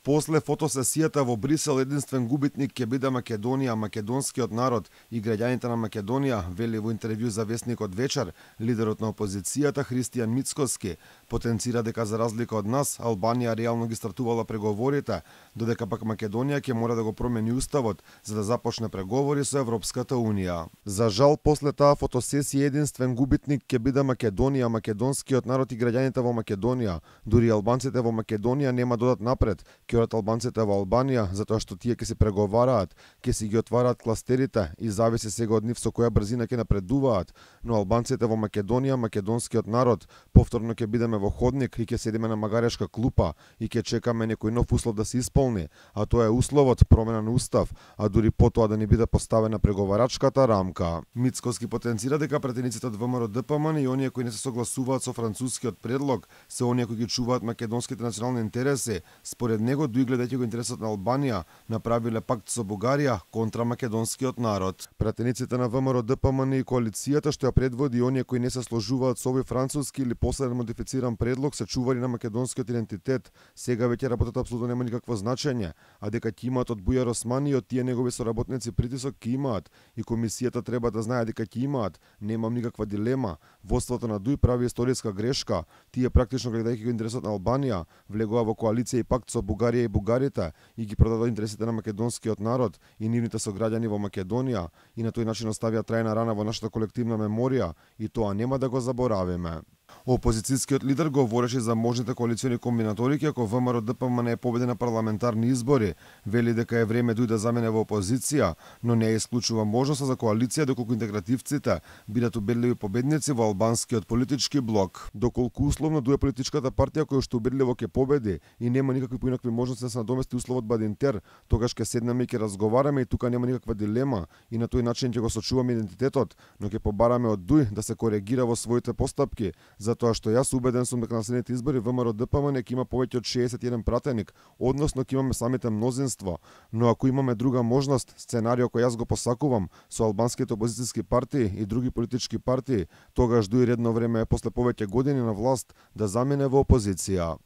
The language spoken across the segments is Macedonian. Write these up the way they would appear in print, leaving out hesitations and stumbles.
После фотосесијата во Брисел единствен губитник ќе биде Македонија, македонскиот народ и граѓаните на Македонија, вели во интервју за весникот Вечер, лидерот на опозицијата Христијан Мицкоски потенцира дека за разлика од нас, Албанија реално ги стартувала преговорите, додека пак Македонија ќе мора да го промени уставот за да започне преговори со Европската унија. За жал, после таа фотосесија единствен губитник ќе биде Македонија, македонскиот народ и граѓаните во Македонија. Дури албанците во Македонија нема додат напред, ќе одат албанците во Албанија, затоа што тие ќе се преговараат, ќе си ги отвараат кластерите и зависи сега од нив со која брзина ќе напредуваат, но албанците во Македонија, македонскиот народ, повторно ќе бидеме во ходник и ќе седиме на магарешка клупа и ќе чекаме некој нов услов да се исполни, а тоа е условот промена на устав, а дури потоа да ни биде поставена преговарачката рамка. Мицкоски потенцира дека пратениците од ВМРО-ДПМН и оние кои не се согласуваат со францускиот предлог се оние кои ги чуваат македонските национални интереси. Според него, дуи гледајќи го интересот на Албанија, направиле пакт со Бугарија контра македонскиот народ. Пратениците на ВМРО-ДПМН и коалицијата што ја предводи оние кои не се сложуваат со овој француски или последен модифициран предлог се чувари на македонскиот идентитет. Сега веќе работата апсолутно нема никакво значење, а дека ќе имаат од Бујар Османи и од тие негови соработници притисок ќе имаат и комисијата треба да знае дека ќе имаат, немам никаква дилема. Воството на ДУИ прави историска грешка. Тие практично гледајќи го интересот на Албанија, влегува во коалиција и пакт со Бугарија и бугарите и ги продадоа интересите на македонскиот народ и нивните сограѓани во Македонија и на тој начин оставија трајна рана во нашата колективна меморија и тоа нема да го заборавиме. Опозицијскиот лидер говореше за можните коалициони комбинаторики ако ВМРО-ДПМН е победи на парламентарни избори. Вели дека е време ДУИ да замене во опозиција, но не исклучува можноста за коалиција доколку интегративците бидат убедливи победници во албанскиот политички блок. Доколку условно ДУИ е политичката партија која што убедливо ќе победи и нема никакви поинакви можности да се надомести условот Бадинтер, тогаш ќе седнеме и ќе разговараме и тука нема никаква дилема и на тој начин ќе го сочуваме идентитетот, но ќе побараме од ДУИ да се коригира во своите постапки, затоа што јас убеден сум дека на следните избори ВМРО-ДПМН ќе има повеќе од 61 пратеник, односно ќе имаме самите мнозинство, но ако имаме друга можност, сценарио кој јас го посакувам со албанските опозицијски партии и други политички партии, тогаш ДУИ редно време е после повеќе години на власт да замине во опозиција.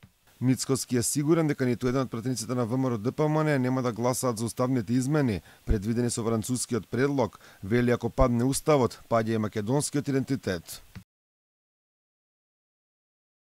Мицкоски е сигурен дека ниту еден од пратениците на ВМРО-ДПМН нема да гласаат за уставните измени, предвидени со францускиот предлог, вели ако падне уставот, паѓа и македонскиот идентитет.